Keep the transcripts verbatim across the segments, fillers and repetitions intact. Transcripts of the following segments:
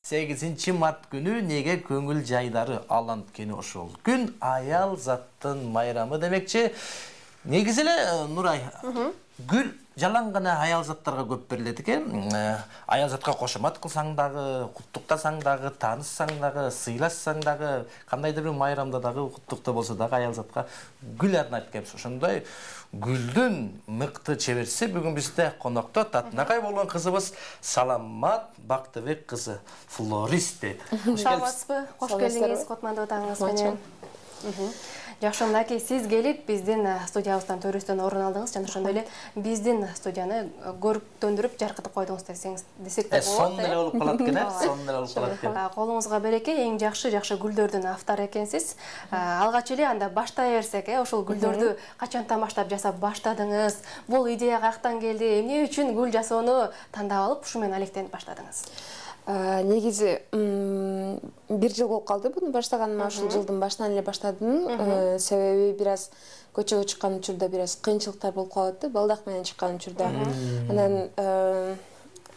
сегизинчи март күнү неге көңүл жайлары ал анткени ошол күн аял заттын майрамы демекчи. Негизи эле Нурай, гүл жалаң гана аял заттарга көп берилет экен. Аял затка кошомат кылсаң дагы, куттуктасаң дагы, тааныссаң дагы, сыйлашсаң дагы, кандайдыр бир майрамда дагы, куттукта болсо дагы аял затка гүл арнайт экенбиз. Ошондой гүлдүн мыкты чеберчиси бүгүн бизде конокто Татынакай болгон кызыбыз Саламат Бактыбек кызы, флорист дейт. Саламатсызбы? Кош келдиңиз Котмандуу атаңыз менен. Жакшы, мынакей сиз келип биздин студиябыздан төрүстөн орун алдыңыз жана ошондой эле биздин студияны көрктөндүрүп жаркытып койдуңуз десеңиз десек да болот. Сонун эле болуп калат экен, э? Сонун эле болуп калат экен. Колуңузга береке, эң жакшы жакшы гүлдөрдүн автору экенсиз. Алгач эле анда баштай берсек, э, ошол гүлдөрдү качантан баштап жасап баштадыңыз? Бул идея каяктан келди? Эмне үчүн гүл жасоону тандап алып, ушу менен алектенип баштадыңыз? Негизи бир жыл болуп калды буну баштаганыма. Ушул жылдын башынан эле баштадым. Себеби бир аз көчөгө чыккан учурда бир аз кыйынчылыктар болуп калат да, балдак менен чыккан учурда. Анан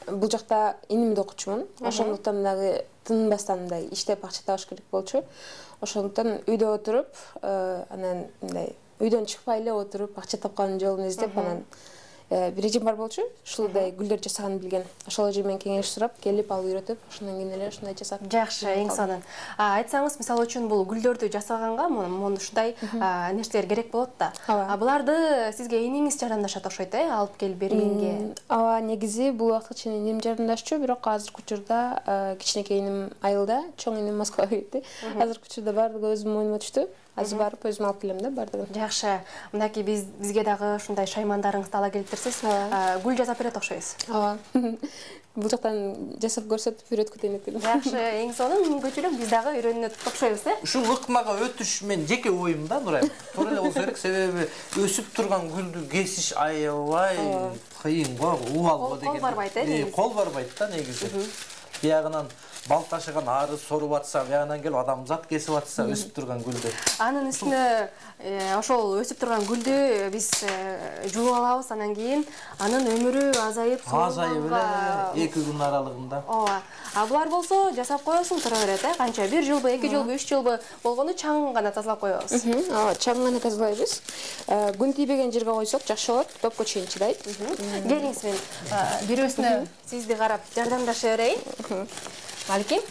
бул жакта инимди окучумун. Ошондуктан дагы тынбастан мындай иштеп акча табыш керек болчу. Ошондуктан үйдө отуруп, анан мындай үйдөн чыкпай эле отуруп акча тапкан жолун издеп, анан бир эжем бар болчу, ушулдай гүлдөр жасаганын билген. Ошол эже менен кеңеш сурап, келип алып үйрөтүп, ошондон кийин эле ушундай жасап. Жакшы, эң сонун. Айтсаңыз, мисалы үчүн бул гүлдөрдү жасаганга муну ушундай нерселер керек болот да. А буларды сизге иниңиз жардамдашат окшойт, э, алып келип бергенге? Ооба, негизи бул убакытка чейин иним жардамдашчу, бирок азыркы учурда кичинекей иним айылда, чоң иним Москвага кетти. Азыркы учурда баардыгы өзүмдүн мойнума түштү. Азыр барып өзүм алып келем да баардыгын. Жакшы. Мынакей биз бизге дагы ушундай шаймандарыңызды ала келиптирсиз. Гүл жасап берет окшойсуз. Ооба. Бул жактан жасап көрсөтүп үйрөткү дейм экен. Жакшы, эң сонун мүмкүнчүлүк биз дагы үйрөнөт окшойбуз, э? Ушул ыкмага өтүш мен жеке оюм да, Нурай. Туура эле болсо керек, себеби өсүп турган гүлдү кесиш аябай кыйын го, убал го деген. Кол барбайт, э? Кол барбайт да негизи. Биягынан бал ташыган ары соруп атса, биягынан келип адамзат кесип атса, өсүп турган гүлдү. Анын үстүнө ошол өсүп турган гүлдү биз жууп алабыз, анан кийин анын өмүрү азайып, азайып эле эки күн аралыгында. Ооба. А булар болсо жасап коесуң тура берет, э? Канча бир жылбы, эки жылбы, үч жылбы болгону чаң гана тазалап коебуз. Ооба, чаң гана тазалайбыз. Күн тийбеген жерге койсок жакшы болот, топко чейин чыдайт. Келиңиз, мен бирөөсүнө сизди карап жардамдаша берейин. Маликим,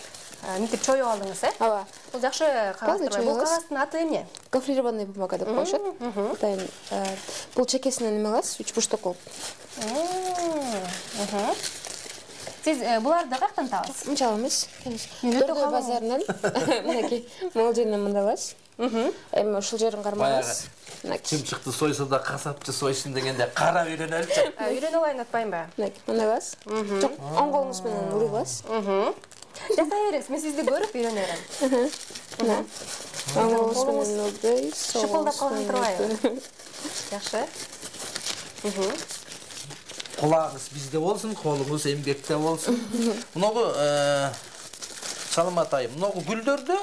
мынтип чоюп алдыңыз, э? Ооба. Бул жакшы кагаз турбайбы? Бул кагаздын аты эмне? Гофрированный бумага деп коюшат. Атайын бул чекесинен эме аласыз, үч бурчтук болуп. Сиз буларды каяктан табасыз? Мынча алабыз. Дөрдө базарынан, мынакей, могул жеринен мындай аласыз. Эми ушул жерин кармагыз. Чымчыкты сойсо да касапчы сойсун дегенде карап үйрөнөлүчү. Үйрөнүп алайын атпайынбы? Мындай аласыз. Жок, оң колуңуз менен урый аласыз. Жасай бериңиз, мен сизди көрүп үйрөнө берем. Мына. Оң колуңуз менен урдайсыз. Шыпылдап калган турбайбы? Жакшы. Кулагыңыз бизде болсун, колуңуз эмгекте болсун. Муногу Саламат айым, муногу гүлдөрдү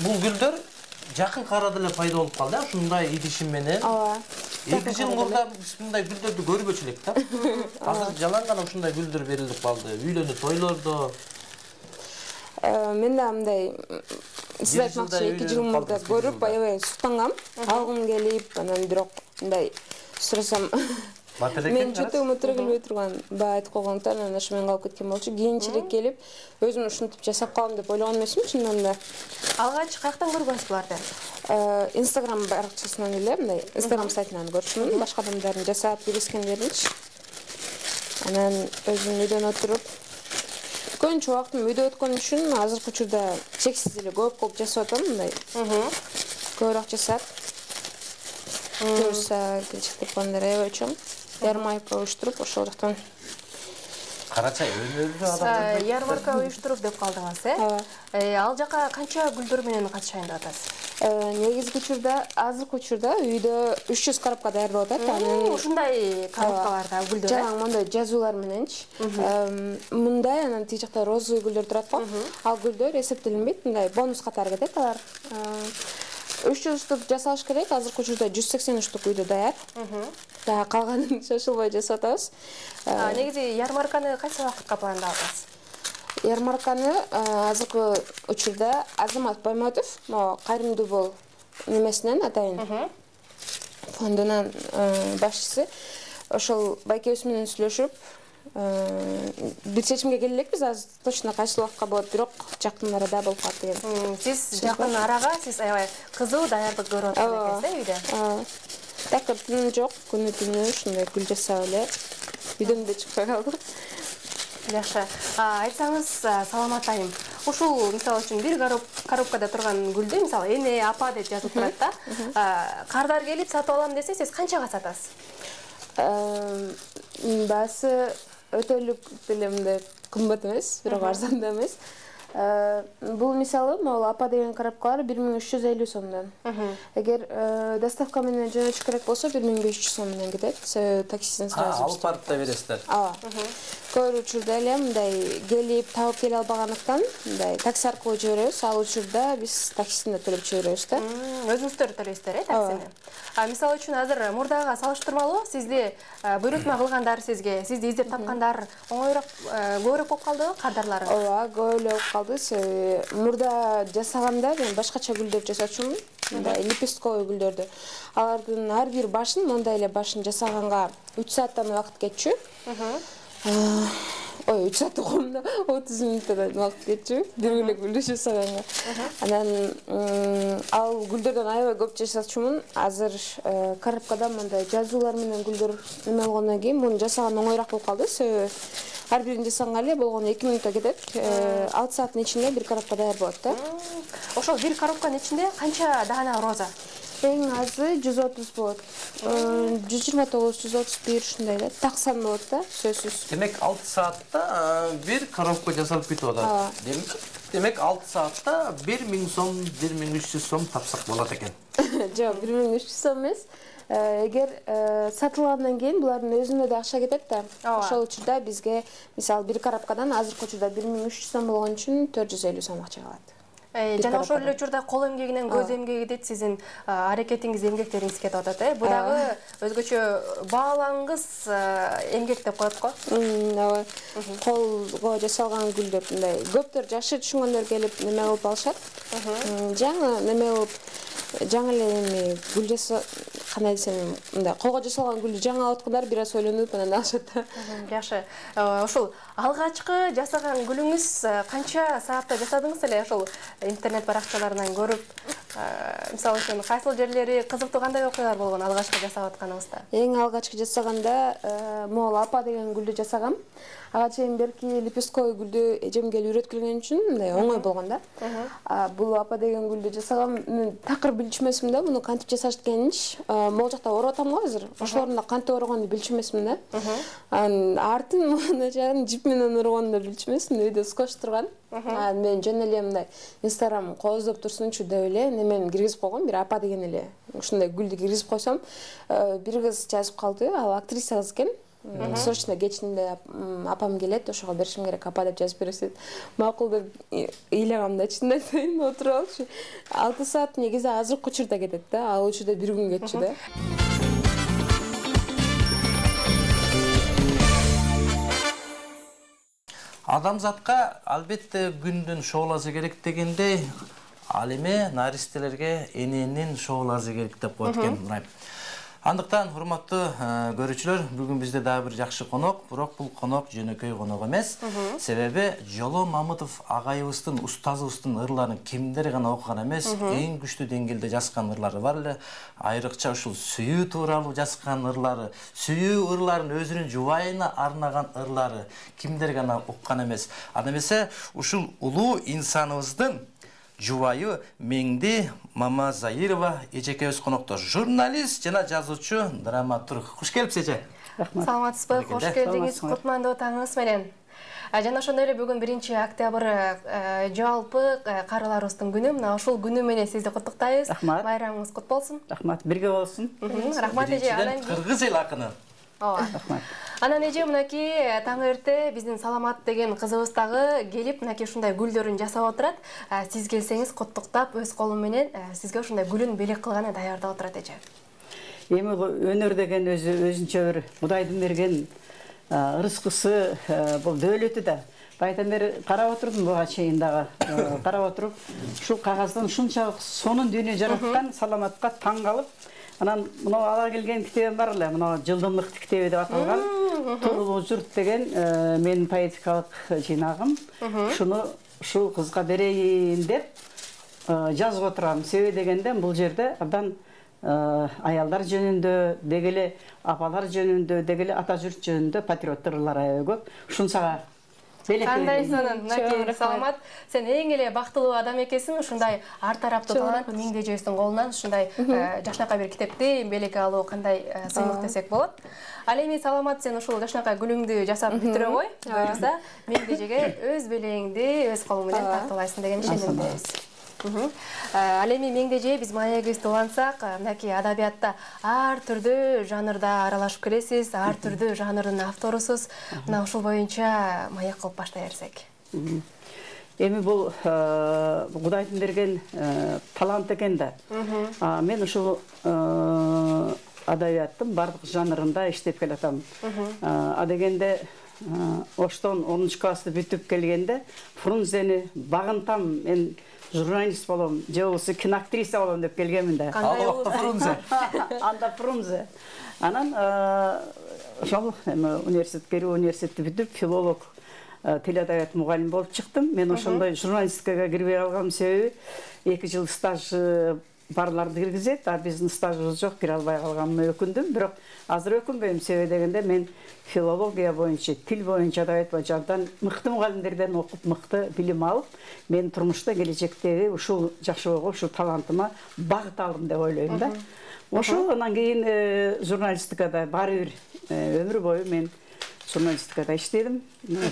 бул гүлдөр жакын арада эле пайда болуп калды, э? Ушундай идишим менен. Ооба. эки жыл мурда биз мындай гүлдөрдү көрбөчү элек да. Азыр жалаң гана ушундай гүлдөр берилип калды. Үйлөнүү тойлордо. Мен да мындай сиз айтмакчы эки жыл мурда көрүп, аябай суктангам. Алгым келип, анан бирок мындай сурасам мен чөтөгүмө туура келбей турган баа айтып койгондуктан анан ошо менен калып кеткен болчу. Кийинчерээк келип, өзүм ушинтип жасап калам деп ойлогон эмесмин чындыгында да. Алгач каяктан көргөнсүз буларды? Instagram баракчасынан эле, мындай Instagram сайтынан көрчүмүн, башка адамдардын жасап бийлескендеринчи. Анан өзүм үйдөн отуруп, көбүнчө убактым үйдө өткөн үчүн азыркы учурда чексиз эле көп-көп жасап атам, мындай. Көбүрөөк жасап. Көрсө келечекте пландар аябай чоң. Ярмарка уюштуруп, ошол жактан Карачай өнөрдү адам. Ярмарка уюштуруп деп калдыңыз, э? Ал жака канча гүлдөр менен катышайын деп атасыз? Негизги учурда, азыркы учурда үйдө үч жүз коробка даярдап атат. Анан ушундай коробкаларда гүлдөр. Жалаң мындай жазуулар мененчи. Мындай, анан тиги жакта розовый гүлдөр турат го. Ал гүлдөр эсептелинбейт, мындай бонус катары кетет алар. үч жүз штук жасалыш керек, азыркы учурда жүз сексен штук үйдө даяр. Да, калганын шашылбай жасап атабыз. Негизи ярмарканы кайсы убакытка пландап атасыз? ярмарканы азыркы учурда Азамат Байматов, могу кайрымдуу бол немесинен атайын фондунун башчысы, ошол байкебиз менен сүйлөшүп, бир чечимге келе элекпиз. Азыр точно кайсы убакытка болот, бирок жакын арада болуп калат деген. Сиз жакын арага сиз аябай кызуу даярдык көрүп атасыз экенсиз үйдө. Такыр түнү жок, күнү түнү ушундай гүл жасап эле үйдөн да чыкпай калдык. Жакшы. Айтсаңыз, Саламат айым, ушул мисалы үчүн бир коробкада турган гүлдү, мисалы эне, апа деп жазылып турат да. Кардар келип сатып алам десе, сиз канчага сатасыз? Баасы өтөлүк деле мындай кымбат эмес, бирок арзан да эмес. Бул мисалы, могул апа деген коробкалар бир миң үч жүз элүү сомдон. Эгер доставка менен жөнөтүш керек болсо бир миң беш жүз сом менен кетет. Таксиден сразу алып барып да бересиздер. Ооба. Көп учурда эле мындай келип таап келе албагандыктан, мындай такси аркылуу жиберебиз. Ал учурда биз таксисин да төлөп жиберебиз да. Өзүңүздөр төлөйсүздөр, э, таксини? А мисалы үчүн азыр мурдага салыштырмалуу сизди буйрутма кылгандар сизге, сизди издеп тапкандар оңоюраак, көбүрөөк болуп калдыбы кардарлары? Ооба, көп эле болуп калды. Мурда жасаганда мен башкача гүлдөр жасачумун, мындай лепестковый гүлдөрдү. Алардын ар бир башын, мондай эле башын жасаганга үч сааттан убакыт кетчү. Ой, үч саат койгомда отуз мүнөттөн убакыт кетчү. Бир эле гүлдү жасаганга. Анан ал гүлдөрдөн аябай көп жасачумун. Азыр коробкада мындай жазуулар менен гүлдөр эме болгондон кийин муну жасаган оңоюраак болуп калды. Себеби ар бирин жасаганга эле болгону эки мүнөттө кетет. алты сааттын ичинде бир коробка даяр болот да. Ошол бир коробканын ичинде канча даана роза? Эң азы жүз отуз болот. жүз жыйырма тогуз, жүз отуз бир ушундай да. Таксан болот да, сөзсүз. Демек алты саатта бир коробка жасалып кетип атат. Демек алты саатта бир миң сом, бир миң үч жүз сом тапсак болот экен. Жок, бир миң үч жүз сом эмес. Эгер сатылгандан кийин булардын өзүнө да акча кетет да. Ошол учурда бизге мисалы бир коробкадан азыркы учурда бир миң үч жүз сом болгон үчүн төрт жүз элүү сом акча калат. Жана ошол эле учурда кол эмгегинен көз эмгеги дейт, сиздин аракетиңиз, эмгектериңиз кетип атат, э? Бу дагы өзгөчө баалаңгыс эмгек деп коет го. Ооба. Колго жасалган гүлдөр мындай көптөр жакшы түшүнгөндөр келип неме кылып алышат. Жаңы неме кылып жаңы эле эми гүл жаса кандай десем, мындай колго жасалган гүлдү жаңы алып аткандар бир аз ойлонуп анан алышат да. Жакшы. Ошол алгачкы жасаган гүлүңүз канча саатта жасадыңыз эле? Ошол интернет баракчаларынан көрүп, мисалы үчүн кайсыл жерлери кызыктуу, кандай окуялар болгон алгачкы жасап атканыңызда? Эң алгачкы жасаганда могул апа деген гүлдү жасагам. Ага чейин берки лепестковый гүлдү эжемге үйрөткүлгөн үчүн мындай оңой болгон да. Бул апа деген гүлдү жасагам. Мен такыр билчү эмесмин да, муну кантип жасашат экенинчи. Могул жакта ороп атам го азыр. Ошолордун да кантип орогонду билчү эмесмин да. Анан артын муну жип менен орогонду да билчү эмесмин. Үйдө скотч турган. Мен жөн эле мындай Instagram кооздоп турсунчу деп эле немени киргизип койгом, бир апа деген эле. Ушундай гүлдү киргизип койсом, бир кыз жазып калды. Ал актриса кыз экен. Срочно кечинде апам келет, ошого беришим керек, апа деп жазып бересиз. Макул деп ыйлагам да, чынын айтайын, отуруп алчу. алты саат негизи азыркы учурда кетет да, ал учурда бир күн кетчү да. Адамзатка албетте күндүн шоолазы керек дегендей, ал эме наристелерге эненин шоолазы керек деп коет экен Нурай. Андыктан, урматтуу көрүүчүлөр, бүгүн бизде дагы бир жакшы конок, бирок бул конок жөнөкөй конок эмес. Себеби Жоло Мамытов агайыбыздын, устазыбыздын ырларын кимдер гана окуган эмес, эң күчтүү деңгээлде жазган ырлары бар эле. Айрыкча ушул сүйүү тууралуу жазган ырлары, сүйүү ырларын өзүнүн жубайына арнаган ырлары кимдер гана уккан эмес. Анда эмесе ушул улуу инсаныбыздын жубайы Меңди Мамазайырова эжекебиз конокто. Журналист жана жазуучу, драматург. Куш келипсиз эже. Рахмат. Саламатсызбы? Кош келдиңиз. Кутмандуу таңыңыз менен. Жана ошондой эле бүгүн биринчи октябрь жалпы карыларыбыздын күнү. Мына ушул күнү менен сизди куттуктайбыз. Рахмат. Байрамыңыз кут болсун. Рахмат. Бирге болсун. Рахмат эже. Анан кыргыз эл акыны. Ооба. Рахмат. Анан эже мынакей таң эрте биздин Саламат деген кызыбыз дагы келип мынакей ушундай гүлдөрүн жасап отурат. Сиз келсеңиз куттуктап өз колу менен сизге ушундай гүлүн белек кылганы даярдап отурат эже. Эми өнөр деген өзү өзүнчө бир Кудайдын берген ырыскысы, бул дөөлөтү да. Байтан бери карап отурдум буга чейин дагы. Карап отуруп, ушул кагаздан ушунчалык сонун дүйнө жараткан Саламатка таң калып, анан мына ала келген китебим бар эле, мына жылдымдык китеби деп аталган. Турулуу журт деген менин поэтикалык жыйнагым. Ушуну ушул кызга берейин деп жазып отурам. Себеби дегенде бул жерде абдан аялдар жөнүндө, деги эле апалар жөнүндө, деги эле ата журт жөнүндө патриоттор ырлар аябай көп. Ушун сага кандай сонун, Наки, Саламат, сен эң эле бактылуу адам экенсиң, ушундай ар тараптуу талант миңдежесиңдин колунан ушундай жашнакай бир китепти белекке алуу кандай сыймык десек болот. Ал эми Саламат, сен ушул жашнакай гүлүңдү жасап бүтүрө кой, буюрса миңдежеге өз белегиңди өз колуң менен тартуулайсың деген ишенимдебиз. Ал эми миңдеже биз маегибизди улантсак, мынакей адабиятта ар түрдүү жанрда аралашып келесиз, ар түрдүү жанрдын авторусуз. Мына ушул боюнча маек кылып баштай берсек. Эми бул Кудайдын берген талант экен да. Мен ушул адабияттын бардык жанрында иштеп келатам. А дегенде Оштон онунчу классты бүтүп келгенде Фрунзени багынтам, мен журналист болом, же болбосо киноактриса болом деп келгенмин да. Ал убакта Фрунзе. Анда Фрунзе. Анан ошол эми университетке университетти бүтүп, филолог, телеадабият мугалим болуп чыктым. Мен ошондой журналистикага кирбей калгам себеби эки жыл стаж барларды киргизет, а биздин стажыбыз жок, кире албай калганыма өкүндүм. Бирок азыр өкүнбөйм, себеби дегенде мен филология боюнча, тил боюнча адабият боюнча абдан мыкты мугалимдерден окуп, мыкты билим алып, мен турмушта келечектеги ушул жакшы бойго, ушул талантыма багыт алдым деп ойлойм да. Ошол анан кийин журналистикада баары бир өмүр бою мен журналистикада иштедим.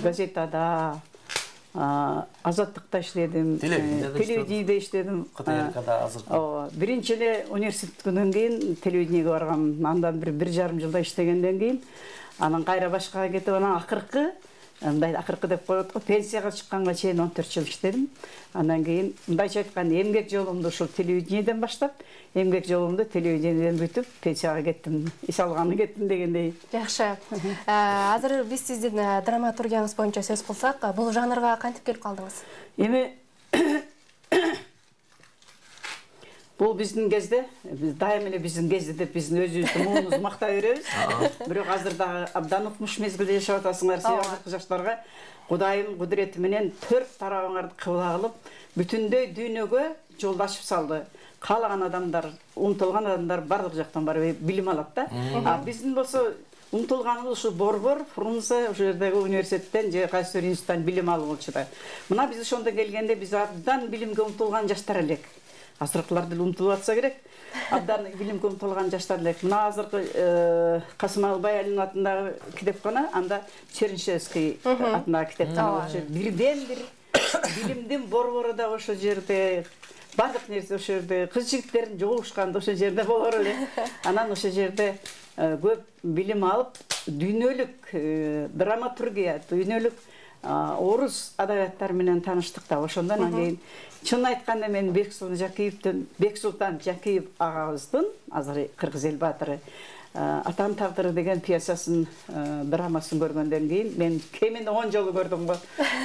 Газетада, Азаттыкта иштедим, телевидениеде иштедим. КТРКда азыр. Ооба, биринчи эле университеттен кийин телевидениеге баргам. Андан бир бир жарым жылда иштегенден кийин анан кайра башкага кетип, анан акыркы, мындай акыркы деп коет го, пенсияга чыкканга чейин он төрт жыл иштедим. Андан кийин мындайча айтканда эмгек жолумду ушул телевидениеден баштап, эмгек жолумду телевидениеден бүтүп, пенсияга кеттим, эс алганы кеттим дегендей. Жакшы. Азыр биз сиздин драматургияңыз боюнча сөз кылсак, бул жанрга кантип келип калдыңыз? Эми бул биздин кезде, биз дайым эле биздин кезде деп биздин өзүбүздүн муунубузду мактай беребиз. Бирок азыр дагы абдан укмуш мезгилде жашап атасыңар, себеби азыркы жаштарга Кудайым кудурети менен төрт тарабыңарды кыбла кылып, бүтүндөй дүйнөгө жол ачып салды. Каалаган адамдар, умтулган адамдар бардык жактан барып билим алат да. А биздин болсо умтулганыбыз ушу Борбор, Фрунзе, ошол жердеги университеттен же кайсы бир институттан билим алып болчу да. Мына биз ошондо келгенде биз абдан билимге умтулган жаштар элек. Азыркылар деле умтулуп атса керек. Абдан билимге умтулган жаштар элек. Мына азыркы Касым Албайалинин атындагы китепкана, анда Чернышевский атындагы китепкана болчу. Бирден бир билимдин борбору да ошол жерде, бардык нерсе ошол жерде, кыз жигиттердин жолугушканды ошол жерде болор эле. Анан ошол жерде көп билим алып, дүйнөлүк драматургия, дүйнөлүк орус адабияттары менен тааныштык да. Ошондон кийин чын айтканда мен Бексултан Жакиевдин, Бексултан Жакиев агабыздын, азыр Кыргыз эл баатыры, Атам тагдыры деген пьесасын, драмасын көргөндөн кийин мен кеминде он жолу көрдүм го.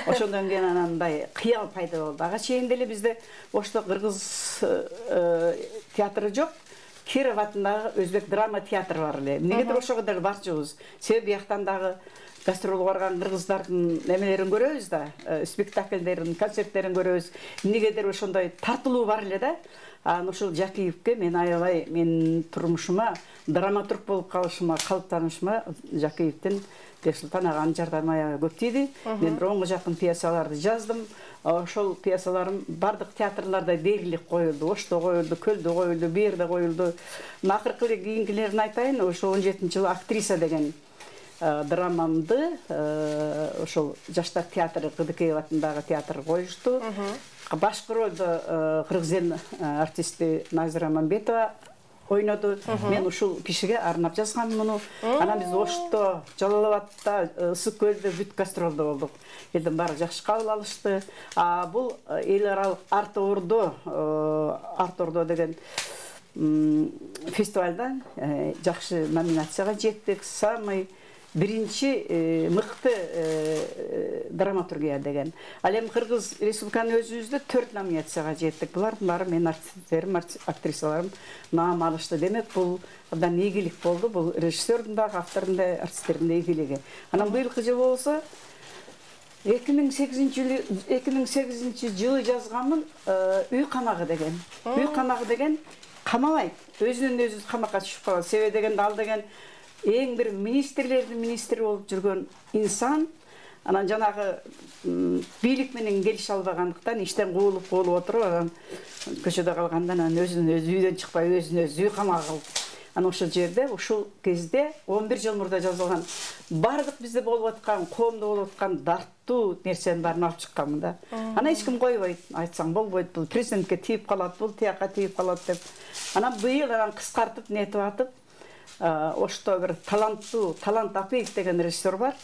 Ошондон кийин анандай кыял пайда болду. Ага чейин деле бизде Ошто Кыргыз театры жок. Киров атындагы өзбек драма театры бар эле. Эмнегедир ошого деле барчубуз. Себеби бияктан дагы гастролго барган кыргыздардын немелерин көрөбүз да, спектакльдерин, концерттерин көрөбүз. Эмнегедир ошондой тартылуу бар эле да. Анан ушул Жакиевке мен аябай менин турмушума, драматург болуп калышыма, калыптанышыма Жакиевдин Бексултан аганын жардамы аябай көп тийди. Мен онго жакын пьесаларды жаздым. Ошол пьесаларым бардык театрларда дээрлик коюлду. Ошто коюлду, Көлдө коюлду, бу жерде коюлду. Акыркы кийинкилерин айтайын, ошо он жетинчи жылы Актриса деген драмамды ошол жаштар театры, Кыдыкеев атындагы театр коюшту. Башкы ролду кыргыз эл артисти Назира Мамбетова ойноду. Мен ушул кишиге арнап жазгам муну. Анан биз Ошто, Жалал абадта, Ысык көлдө бүт гастролдо болдук. Элдин баары жакшы кабыл алышты. А бул эл аралык Арт Ордо, Арт Ордо деген фестивалдан жакшы номинацияга жеттик. Самый биринчи мыкты драматургия деген. Ал эми Кыргыз Республиканын өзүбүздө төрт номинацияга жеттик. Булардын баары менин артисттерим, актрисаларым наам алышты. Демек, бул абдан ийгилик болду. Бул режиссердун дагы, автордун да, артисттердин да ийгилиги. Анан быйылкы жыл болсо эки миң сегизинчи жылы жазганмын Үй камагы деген. Үй камагы деген камабайт. Өзүнөн өзү камакка түшүп калат. Себеби дегенде ал деген эң бир министрлердин министри болуп жүргөн инсан, анан жанагы бийлик менен келише албагандыктан иштен куулуп куулуп отуруп, анан көчөдө калганда анан өзүнөн өзү үйдөн чыкпай өзүнө өзү үй камагы кылып. Анан ошол жерде, ушул кезде он бир жыл мурда жазылган бардык бизде болуп аткан, коомдо болуп аткан дартуу нерсенин баарын алып чыкканмын да. Анан эч ким койбойт, айтсаң болбойт, бул президентке тийип калат, бул тияка тийип калат деп. Анан быйыл анан кыскартып нетип атып, ошто бир таланттуу Талант Апиев деген режиссер бар.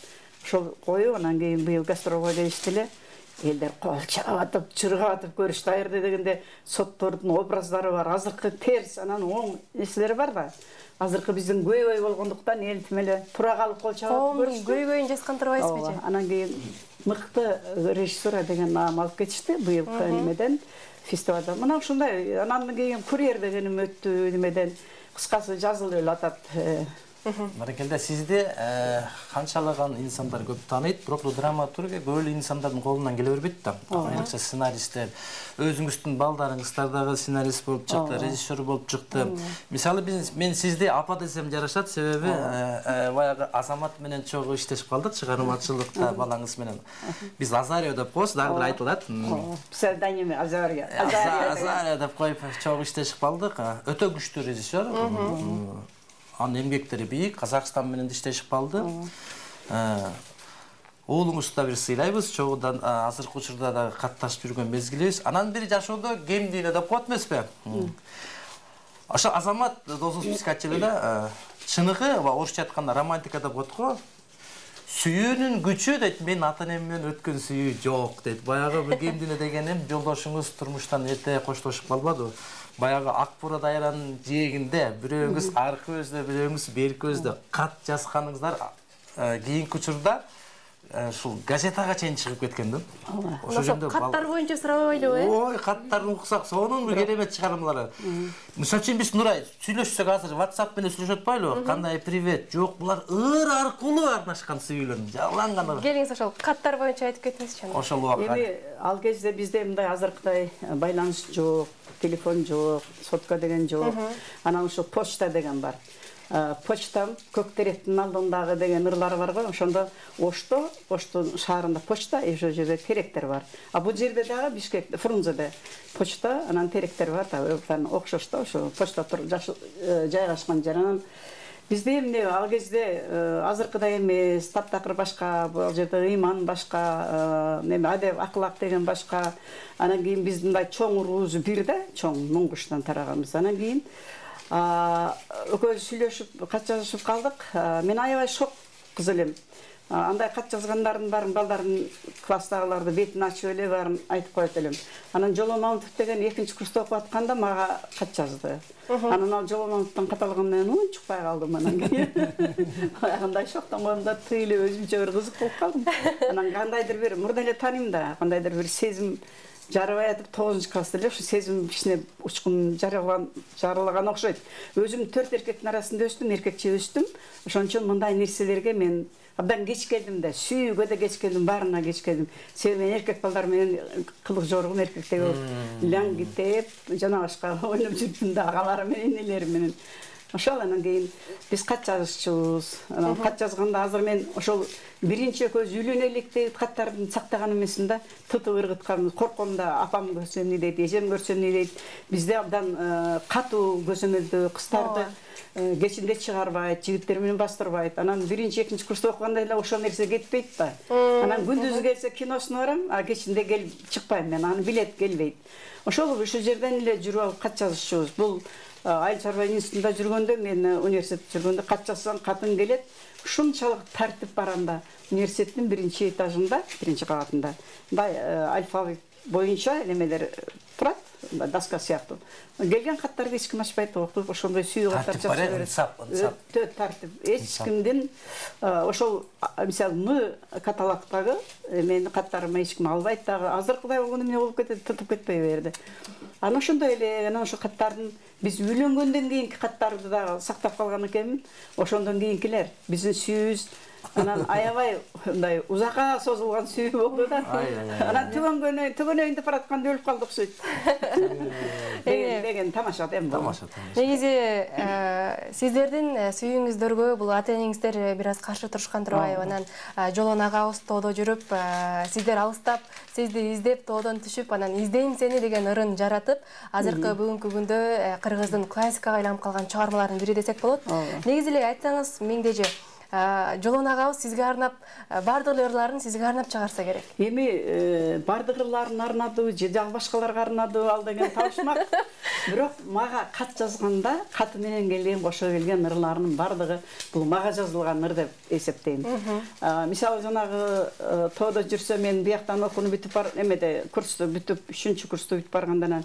Ошол коюп, анан кийин быйыл гастролго келишти эле. Элдер кол чаап атып, чыргап атып көрүштү. Аерде дегенде соттордун образдары бар, азыркы терс, анан оң нерселери бар да. Азыркы биздин көйбөй болгондуктан эл тим эле тура калып кол чаап көрүштү. Көйбөйүн жазган турбайсызбы? Анан кийин мыкты режиссер деген наам алып кетишти быйылкы немеден, фестивалда. Мына ушундай. Анан кийин Курьер дегеним өттү немеден. Кыскасы жазылып эле атат. Баракелде, сизди канчалаган инсандар көп тааныйт, бирок драматургия көп эле инсандардын колунан келе бербейт да. Айрыкча сценаристтер, өзүңүздүн балдарыңыздар дагы сценарист болуп чыкты, режиссер болуп чыкты. Мисалы мен сизди апа десем жарашат, себеби баягы Азамат менен чогуу иштешип калдык чыгармачылыкта балаңыз менен. Биз Азарио деп коебуз, дагы бир айтылат. Псевдоними Азарио. Азарио деп коюп чогуу иштешип калдык. Өтө күчтүү режиссер. Анын эмгектери бийик, Казакстан менен иштешип калды. Уулуңузду да бир сыйлайбыз, чогуудан азыркы учурда да катташып жүргөн мезгилибиз. Анан бир жашоодо кемдийне деп коет эмеспи? Ошо Азамат досубуз айтчу эле да, чыныгы, орусча айтканда романтика деп коет го. Сүйүүнүн күчү дейт, мен ата энем менен өткөн сүйүү жок дейт. Баягы бир кемдийне дегеним жолдошуңуз турмуштан эрте коштошуп калбады. Баягы ак бура дайранын жээгинде бирөөңүз аркы көздө, бирөөңүз берки көздө кат жазганыңыздар кийинки учурда ушул газетага чейин чыгып кеткен да. Ошо жөнүндө каттар боюнча сурабайлыбы, э? Ой, каттарын уксак, сонун бир керемет чыгармалар. Мисалы үчүн биз Нурай сүйлөшсөк азыр WhatsApp менен сүйлөшүп атпайлыбы? Кандай привет? Жок, булар ыр аркылуу арнашкан сүйүүлөр, жалган. Келиңиз ошол каттар боюнча айтып кетиңизчи. Ошол убакта. Эми ал кезде бизде мындай азыркыдай байланыш жок, телефон жок, сотка деген жок. Анан ошо почта деген бар. Почта Көктеректин алдындагы деген ырлары бар го. Ошондо Ошто, Оштун шаарында почта, ошол жерде теректер бар. А бул жерде дагы Бишкек, Фрунзеде почта, анан теректер бар да, окшош да, ошо почта жайгашкан жер. Анан бизде эмне ал кезде азыркыдай эмес, таптакыр башка, бул жерде ыйман башка, неме адеп, акылак деген башка. Анан кийин биздин мындай чоң уруубуз бир да, чоң Муңгуштан тараганбыз. Анан кийин экөөбүз сүйлөшүп, кат жазышып калдык. Мен аябай шок кыз элем. Андай кат жазгандардын баарын балдардын класстагыларды бетин ачып эле баарын айтып коет элем. Анан Жоло Мамытов деген экинчи курста окуп атканда мага кат жазды. Анан ал Жоло Мамытовдун кат алганын менен унчукпай калдым анан кийин. Кандай шоктон койгомда тыйлы өзүнчө бир кызык болуп калдым. Анан кандайдыр бир мурда эле тааныйм да, кандайдыр бир сезим жарыбай атып тогузунчу класста эле ушу сезим кичине учкун жарылаган окшойт. Өзүм төрт эркектин арасында өстүм, эркекче өстүм. Ошон үчүн мындай нерселерге мен абдан кеч келдим да, сүйүүгө да кеч келдим, баарына кеч келдим. Себеби мен эркек балдар менен кылык жоргум эркектей болуп, лаңгитеп, жана башка ойноп жүрдүм да, агаларым менен, энелерим менен. Ошол анан кийин биз кат жазышчубуз. Анан кат жазганда азыр мен ошол биринчи экөөбүз үйлөнөлүк деп каттарды сактаган эмесмин да, тытып ыргыткан, корком да, апам көрсө эмне дейт, эжем көрсө эмне дейт. Бизде абдан катуу көзөмөлдөө кыздарды кечинде чыгарбайт, жигиттер менен бастырбайт. Анан биринчи, экинчи курста окуганда эле ошол нерсе кетпейт да. Анан күндүзү келсе киносуна барам, а кечинде келип чыкпайм мен, аны билет келбейт. Ошол ушул жерден эле жүрүп алып кат жазышчубуз. Бул Айыл чарба институтунда жүргөндө, мен университетте жүргөндө кат жазсаң катын келет. Ушунчалык тартип барам да, университеттин биринчи этажында, биринчи кабатында. Мындай алфавит боюнча немелер турат, доска сыяктуу. Келген каттарды эч ким ачпайт, окуп ошондой сүйүү каттар Тартип бар, жазып берет. инсап, инсап. Өтө тартип. Эч кимдин ошол мисалы М каталогдагы менин каттарыма эч ким албайт дагы. Азыркыдай болгону эмне болуп кетет, тутуп кетпей берди. Анан ошондой эле, анан ошо каттардын биз үйлөнгөндөн кийинки каттарды дагы сактап калган экенмин. Ошондон кийинкилер биздин сүйүүбүз анан аябай мындай узакка созулган сүйүү болду да. Анан түгөнгөнө түгөнөйүндө баратканда өлүп калды окшойт. Деген деген тамаша да эми. Тамаша. Негизи сиздердин сүйүүңүздөргө бул ата энеңиздер бир аз каршы турушкан турбайбы? Анан жолон агабыз тоодо жүрүп, сиздер алыстап, сизди издеп тоодон түшүп, анан издейм сени деген ырын жаратып, азыркы бүгүнкү күндө кыргыздын классикага айланып калган чыгармалардын бири десек болот. Негизи эле айтсаңыз, меңдеже Жолон агабыз сизге арнап, бардык ырларын сизге арнап чыгарса керек. Эми бардык ырларын арнады, же дагы башкаларга арнады, ал деген табышмак. Бирок мага кат жазганда, каты менен келген, кошо келген ырларынын бардыгы бул мага жазылган ыр деп эсептейм. Мисалы жанагы тоодо жүрсө, мен бияктан окууну бүтүп бар, эмеде курсту бүтүп, үчүнчү курсту бүтүп баргандан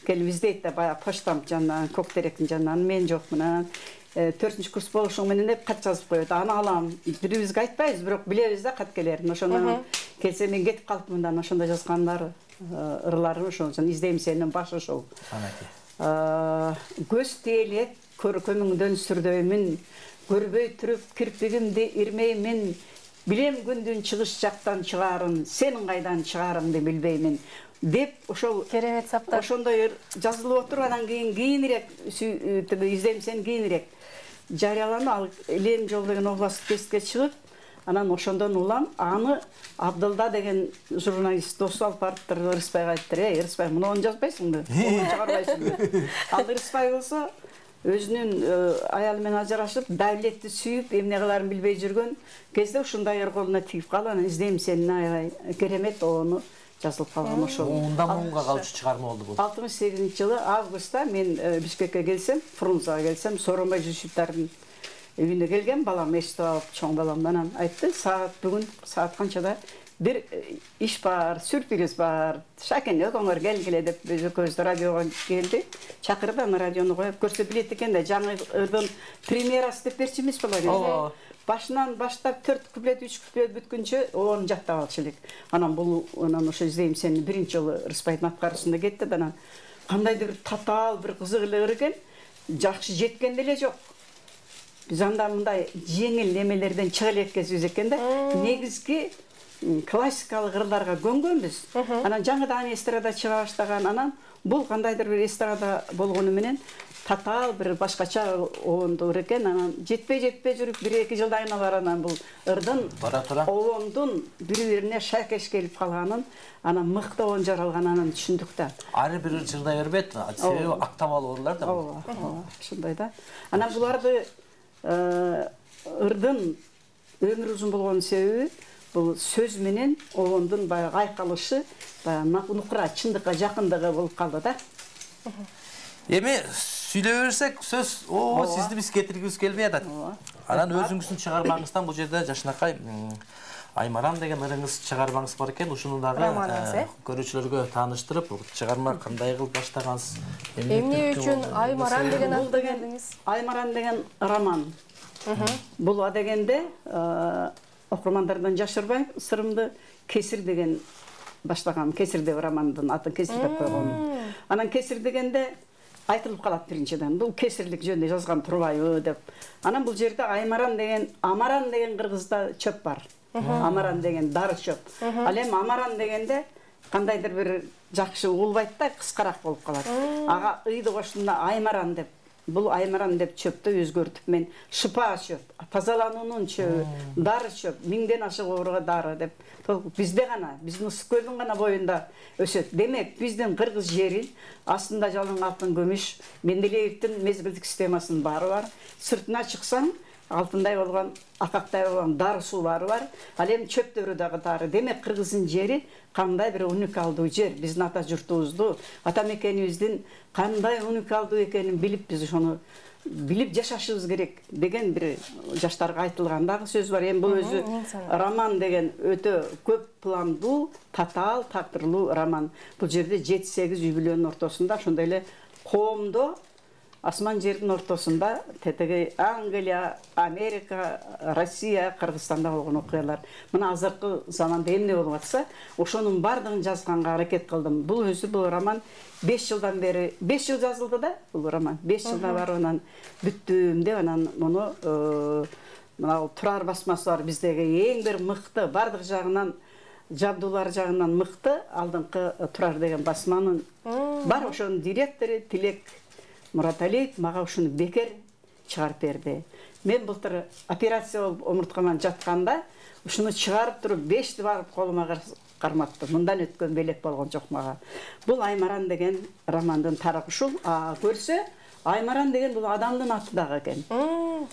келип издейт да, баягы почтам жанынан, көк теректин жанынан, мен жокмун. Анан төртүнчү курс болушуң менен деп кат жазып коет. Аны алам. Бирибизге айтпайбыз, бирок билебиз да кат келерин. Ошондон келсе мен кетип калыпмын да, ошондо жазгандар ырлары ошол. Издейм сенин башы ошол. Көз тиелек көркөмүңдөн сүрдөймүн, көрбөй туруп кирпигимди ирмеймин. Билем күндүн чыгыш жактан чыгарын, сенин кайдан чыгарыңды билбеймин. Деп ошол керемет саптар. Ошондой жазылып отуруп, анан кийин кийинирээк издейм сени кийинирээк жарыяланып, ал Элен жол деген областтык тестке чыгып, анан ошондон улам аны Абдылда деген журналист досу алып барыптыр, Ырысбайга айттыр: "Эй, Ырысбай, муну чыгарбайсыңбы? Муну чыгарбайсыңбы?" Ал Ырысбай болсо өзүнүн аялы менен ажырашып, давлетти сүйүп, эмне кыларын билбей жүргөн кезде ушундай ыр колуна тийип калып, анан издейм сени аябай керемет ону жазылып калган ошол. Ундан муңга калчу чыгарма болду бул. алтымыш сегизинчи жылы августта мен Бишкекке келсем, Фрунзага келсем, Сооронбай Жүсүповдун үйүнө келгем, балам эшитип алып, чоң балам, анан айтты: "Саат бүгүн саат канчада бир иш бар, сюрприз бар. Шакен экөөңөр келгиле" деп экөөбүз радиого келди. Чакырды, аны радиону коюп көрсө билет экен да, жаңы ырдын премьерасы деп берчү эмес болор. Башынан баштап төрт куплет, үч куплет бүткүнчө оны жаттап алчу элек. Анан бул анан ошо издейм сени биринчи жолу Рыспайдын аткарышында кетти да, анан кандайдыр бир татаал, бир кызык эле ыр экен. Жакшы жеткен деле жок. Биз анда мындай жеңил немелерден чыга элеккенбиз экен да. Негизги классикалык ырларга көнгөнбүз. Анан жаңыдан эстрада чыга баштаган, анан бул кандайдыр бир эстрада болгону менен татаал бир башкача оонду ыр экен. Анан жетпей жетпей жүрүп бир эки жылдан кийин алар анан бул ырдын оондун бири-бирине шайкеш келип калганын, анан мыкты оон жаралганын түшүндүк да. Ары бир ыр жырдай бербейт, себеби актабал ырлар да. Ооба, ошондой да. Анан буларды ырдын өмүр узун болгон себеби бул сөз менен оондун баягы айкалышы, баягы нукура, чындыкка жакындыгы болуп калды да. Эми сүйлөй берсек, сөз о сизди биз кетиргибиз келбей атат. Анан өзүңүздүн чыгармаңыздан бул жерде Жашынакай Аймаран деген ырыңыз чыгармаңыз бар экен. Ушуну дагы көрүүчүлөргө тааныштырып, чыгарма кандай кылып баштагансыз? Эмне үчүн Аймаран деген аты бердиңиз? Аймаран деген роман. Бул дегенде окурмандардан жашырбай сырымды Кесир деген баштагам. Кесир деп романдын атын Кесир деп койгон. Анан Кесир дегенде айтылып калат биринчиден. Бул кесирлик жөнүндө жазган турбайбы деп. Анан бул жерде Аймаран деген, Амаран деген кыргызда чөп бар. Амаран деген дары чөп. Ал эми Амаран дегенде кандайдыр бир жакшы улбайт да, кыскараак болуп калат. Ага ыйды коштунда Аймаран деп. Бул Аймаран деп чөптү өзгөртүп мен шыпа чөп, тазалануунун чөбү, дары чөп, миңден ашык ооруга дары деп. Бизде гана, биздин Ысык көлдүн гана боюнда өсөт. Демек, биздин кыргыз жери астында жалын алтын көмүш, Менделеевдин мезгилдик системасынын баары бар. Сыртына чыксаң, алтындай болгон, акактай болгон дары суулары бар. Ал эми чөптөрү дагы дары. Демек, кыргыздын жери кандай бир уникалдуу жер. Биздин ата журтубузду, ата мекенибиздин кандай уникалдуу экенин билип, биз ошону билип жашашыбыз керек деген бир жаштарга айтылган дагы сөз бар. Эми бул өзү роман деген өтө көп пландуу, татаал, тактырлуу роман. Бул жерде жети сегиз үй бүлөнүн ортосунда, ошондой эле коомдо асман жердин ортосунда тетеги Англия, Америка, Россия, Кыргызстанда болгон окуялар. Мына азыркы заманда эмне болуп атса, ошонун бардыгын жазганга аракет кылдым. Бул өзү бул роман беш жылдан бери, беш жыл жазылды да бул роман. беш жылдан барып анан бүттүм деп анан муну мына Турар басмасы бар, биздеги эң бир мыкты, бардык жагынан, жабдуулар жагынан мыкты алдыңкы Турар деген басманын бар. Ошонун директору Тилек Мураталиев мага ушуну бекер чыгарып берди. Мен былтыр операция болуп омурткаман жатканда ушуну чыгарып туруп бешти барып колума карматтым. Мындан өткөн белек болгон жок мага. Бул Аймаран деген романдын тарыхы ушул. А көрсө, Аймаран деген бул адамдын аты дагы экен.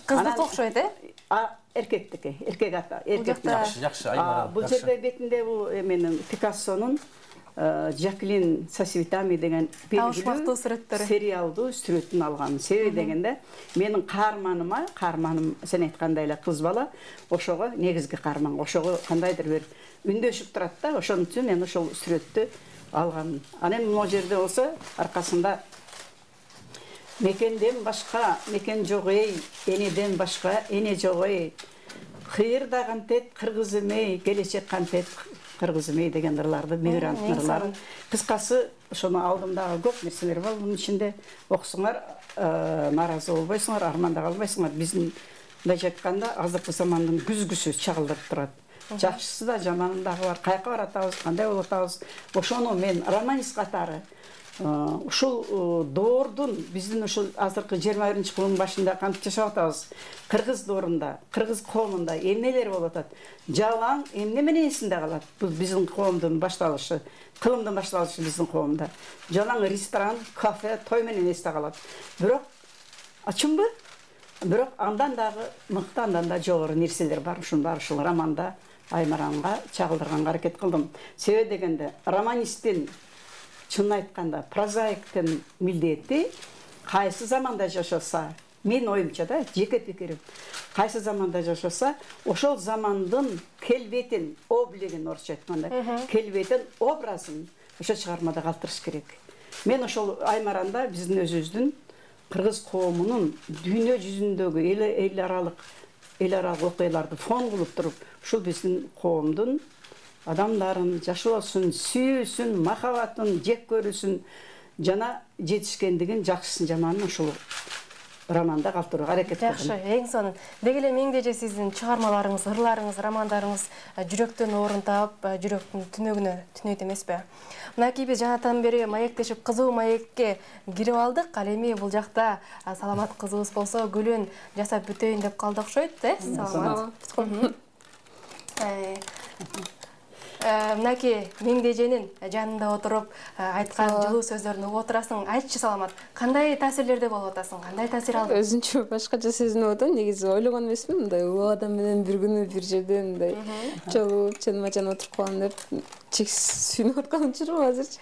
Кыздыкка окшойт, э? А эркектики, эркек аты, эркек. Жакшы, жакшы, Аймаран. Бул жерде бетинде бул менин Пикассонун Жаклин Сосвитами деген белгилүү сериалдуу сүрөтүн алган. Себеби дегенде, менин каарманыма, каарманым сен айткандай эле кыз бала, ошого негизги каарман, ошого кандайдыр бир үндөшүп турат да, ошон үчүн мен ошол сүрөттү алгам. Анан могу жерде болсо, аркасында мекенден башка мекен жок эй, энеден башка эне жок эй. Кыйырда кантет кыргыз эмей, келечек кантет кыргыз эмей деген ырларды, мигрант ырларын. Кыскасы, ошону алдым дагы көп нерселер бар. Мунун ичинде окусуңар, нааразы болбойсуңар, арманда калбайсуңар. Биздин мындайча айтканда азыркы замандын күзгүсү чагылдырып турат. Жакшысы да, жаманы дагы бар. Каяка баратабыз, кандай болуп атабыз. Ошону мен романист катары ушул доордун, биздин ушул азыркы жыйырма биринчи кылымдын башында кантип жашап атабыз, кыргыз доорунда, кыргыз коомунда эмнелер болуп атат, жалаң эмне менен эсинде калат. Бул биздин коомдун башталышы, кылымдын башталышы биздин коомдо. Жалаң ресторан, кафе, той менен эсте калат. Бирок ачынбы? Бирок андан дагы мыкты, андан да жогору нерселер бар. Ушунун баары ушул романда Аймаранга чагылдырганга аракет кылдым. Себеби дегенде, романисттин чынын айтканда прозаиктин милдети кайсы заманда жашаса, мен оюмча да, жеке пикирим, кайсы заманда жашаса, ошол замандын келбетин, облигин орусча айтканда, келбетин, образын ошо чыгармада калтырыш керек. Мен ошол Аймаранда биздин өзүбүздүн кыргыз коомунун дүйнө жүзүндөгү эл аралык эл аралык окуяларды фон кылып туруп, ушул биздин коомдун адамдарын жашоосун, сүйүүсүн, махабатын, жек көрүүсүн жана жетишкендигин, жакшысын, жаманын ушул романда калтырууга аракет кылдым. Жакшы, эң сонун. Деги эле меңдеже сиздин чыгармаларыңыз, ырларыңыз, романдарыңыз жүрөктөн орун таап, жүрөктүн түнөгүнө түнөйт эмеспи? Мынакей биз жанатан бери маектешип, кызуу маекке кирип алдык. Ал эми бул жакта саламат кызыбыз болсо, гүлүн жасап бүтөйүн деп калды окшойт, э? Саламат. Мынакей меңдеженин жанында отуруп айткан жылуу сөздөрүн угуп отурасың. Айтчы, Саламат, кандай таасирлерде болуп атасың? Кандай таасир алдың? Өзүнчө башкача сезинип атам. Негизи ойлогон эмесмин, мындай улуу адам менен бир күнү бир жерде мындай жолугуп, чанма-чан отуруп калам деп чексиз сүйүнүп аткан учурум азырчы.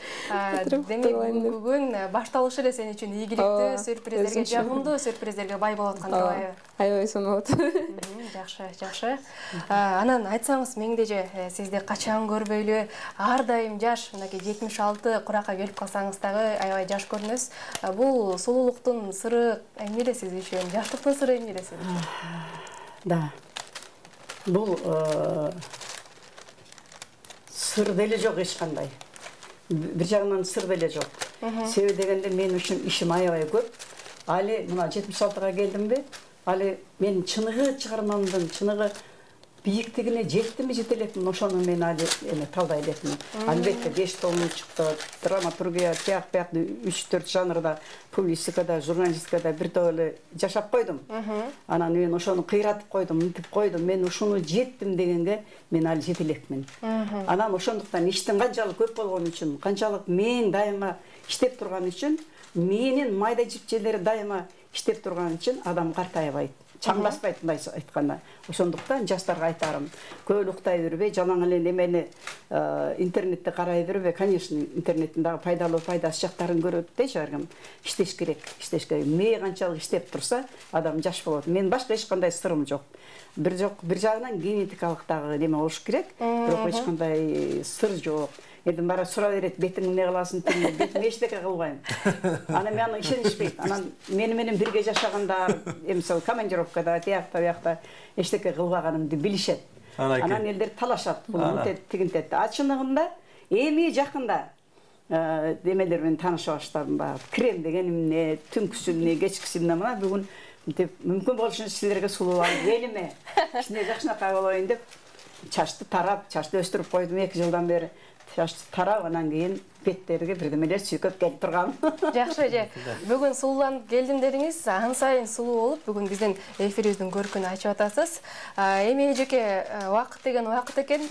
Демек, бүгүн башталышы эле сен үчүн ийгиликтүү, сюрприздерге, жагымдуу сюрприздерге бай болуп аткан турбайбы? Аябай сонуп атат. Жакшы, жакшы. Анан айтсаңыз, меңдеже, сизди качан көрбөйлү, ар дайым жаш, мынакей жетимиш алты куракка келип калсаңыз дагы аябай жаш көрүнөсүз. Бул сулуулуктун сыры эмне эле сиз үчүн? Жаштыктын сыры эмне эле сиз үчүн? Да. Бул сыр деле жок эч кандай. Бир жагынан сыр деле жок. Себеби дегенде мен үчүн ишим аябай көп. Али мына жетимиш алтыга келдимби? Али мен чыныгы чыгармамдын чыныгы бийиктигине жеттимби, жете элекмин, ошону мен али эме талдай элекмин. Албетте беш томун чыкты, драматургия, тияк бияк үч төрт жанрда, публистикада, журналистикада бир топ эле жашап койдум. Анан мен ошону кыйратып койдум, мынтип койдум. Мен ушуну жеттим дегенге мен али жете элекмин. Анан ошондуктан иштин канчалык көп болгон үчүн, канчалык мен дайыма иштеп турган үчүн, менин майда жипчелери дайыма иштеп турган үчүн адам картайбайт. чаң баспайт мындай айтканда. Ошондуктан жаштарга айтарым, көп уктай бербей, жалаң эле немени интернетте карай бербей, конечно, интернеттин дагы пайдалуу пайдасы жактарын көрөт дейчи ар ким. Иштеш керек, иштеш керек. Мээ канчалык иштеп турса, адам жаш болот. Мен башка эч кандай сырым жок. Бир жок, бир жагынан генетикалык дагы неме болуш керек, бирок эч кандай сыр жок. Эдим бара сура берет, бетиң эмне кыласың, бетиң эчтеке кылбайм. Анан мен аны ишенишпейт. Анан мени менен бирге жашагандар, эмисал командировкада, тиякта, биякта эчтеке кылбаганымды билишет. Анан элдер талашат, бул мынтет, тигинтет. А чыныгында эми жакында демелер менен тааныша баштадым баягы. Крем деген эмне, түнкүсү эмне, кечкиси эмне мына бүгүн деп мүмкүн болушунча силерге сулууланып элиме, кичине жакшынакай болоюн деп чачты тарап, чачты өстүрүп койдум эки жылдан бери. Чачты тарап, анан кийин беттерге бирдемелер сүйкөп келип турган. Жакшы эже. Бүгүн сулууланып келдим дедиңиз. Ан сайын сулуу болуп, бүгүн биздин эфирибиздин көркүн ачып атасыз. Эми эжеке, убакыт деген убакыт экен.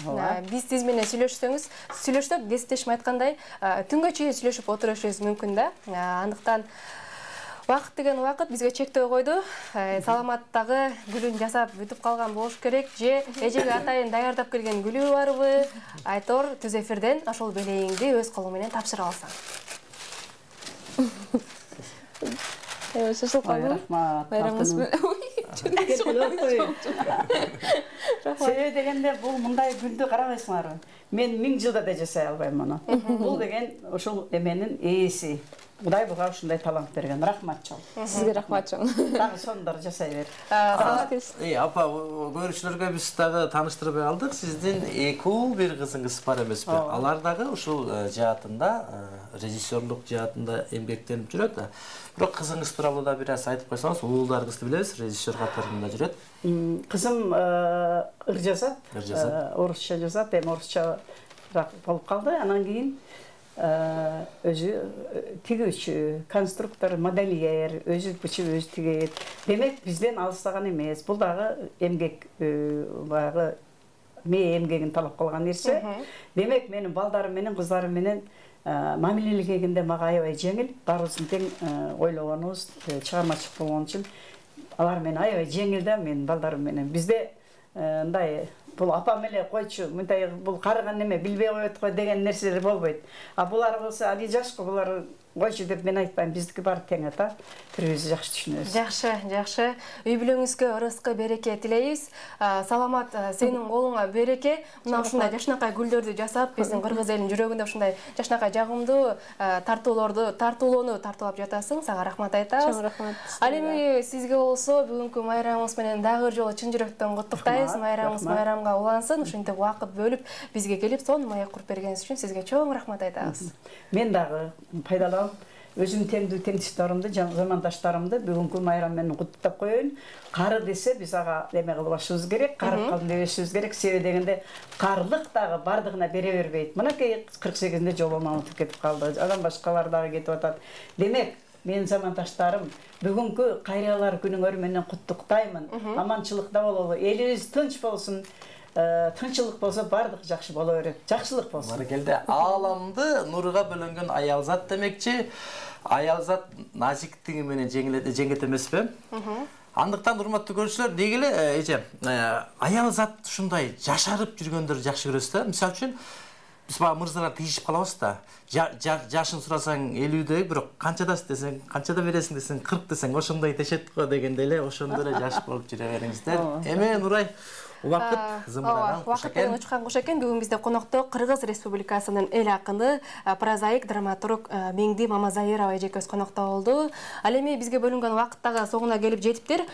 Биз сиз менен сүйлөшсөңүз, сүйлөшсөк, кесиптешим айткандай, түнгө чейин сүйлөшүп отурушубуз мүмкүн да. Андыктан убакыт деген убакыт бизге чектөө койду. Саламаттагы гүлүн жасап бүтүп калган болуш керек. Же эжеге атайын даярдап келген гүлү барбы? Айтор түз эфирден ошол белейиңди өз колуң менен тапшыра алсаң. Эээ, шашыл калды. Рахмат. Байрамыңыз Себеби дегенде бул мындай гүлдү карабайсыңарбы? Мен миң жылда да жасай албайм муну. Бул деген ошол эменин ээси. Кудай буга ушундай талант берген. Рахмат чоң. Сизге рахмат чоң. Дагы сонундар жасай бер. Э, апа, көрүүчүлөргө биз дагы тааныштырбай алдык. Сиздин эки уул, бир кызыңыз бар эмеспи? Алар дагы ушул жаатында, режиссерлук жаатында эмгектенип жүрөт. Бирок кызыңыз тууралуу да бир аз айтып койсоңуз, уулдарыңызды билебиз, режиссер катарында жүрөт. Кызым ыр жазат, орусча жазат, эми орусча болуп калды. Анан кийин өзү тигүүчү, конструктор, модельер, өзү бычып, өзү тигет. Демек, бизден алыстаган эмес. Бул дагы эмгек, баягы мээ эмгегин талап кылган нерсе. Демек, менин балдарым менен, кыздарым менен мамилелегенде мага аябай жеңил. Баарыбыздын тең ойлогонубуз, чыгармачылык болгон үчүн алар менен аябай жеңил да, менин балдарым менен. Бизде мындай бул апам эле койчу, мындай бул карыган неме билбей коет го деген нерселер болбойт. А булар болсо али жашкы, булар койчу деп мен айтпайм, биздики баары тең ата. Бирибизди жакшы түшүнөбүз. Жакшы, жакшы. Үй бүлөңүзгө ырыскы береке тилейбиз. Саламат, сенин колуңа береке. Мына ушундай жашынакай гүлдөрдү жасап, биздин кыргыз элинин жүрөгүндө ушундай жашынакай жагымдуу тартуулорду, тартуулоону тартуулап жатасың. Сага рахмат айтабыз. Чоң рахмат. Ал эми сизге болсо бүгүнкү майрамыңыз менен дагы бир жолу чын жүрөктөн куттуктайбыз. Майрамыңыз майрамга улансын. Ушинтип убакыт бөлүп бизге келип, сонун маек куруп бергениңиз үчүн сизге чоң рахмат айтабыз. Мен дагы пайдаланып өзүм теңдүү теңдиштарымды, замандаштарымды бүгүнкү майрам менен куттуктап коеюн. Кары десе биз ага эме кылбашыбыз керек, карып калдым дебешибиз керек. Себеби дегенде карлык дагы бардыгына бере бербейт. Мынакей кырк сегизинде жолума унутуп кетип калды. Адам башкалар дагы кетип атат. Демек, менин замандаштарым, бүгүнкү кайралар күнүңөр менен куттуктаймын. Аманчылыкта бололу, элибиз тынч болсун. Тынчылык болсо бардык жакшы боло берет. Жакшылык болсун. Баракелде, ааламды нурга бөлөнгөн аялзат демекчи. Аялзат назиктиги менен жеңет эмеспи? Андыктан урматтуу көрүүчүлөр, деги эле эже, аялзат ушундай жашарып жүргөндөрдү жакшы көрөсүз да. Мисалы үчүн биз бага мырзалар тийишип калабыз да. Жашын сурасаң элүүдө, бирок канчадасың десең, канчада бересиң десең, кырк десең, ошондой дешет го дегенде эле ошондой эле жаш болуп жүрө бериңиздер. Эме Нурай, убакыт зымыраган куш экен. Убакыт учкан куш экен. Бүгүн бизде конокто Кыргыз Республикасынын эл акыны, прозаик, драматург Меңди Мамазайырова эжекебиз конокто болду. Ал эми бизге бөлүнгөн убакыт дагы соңуна келип жетиптир.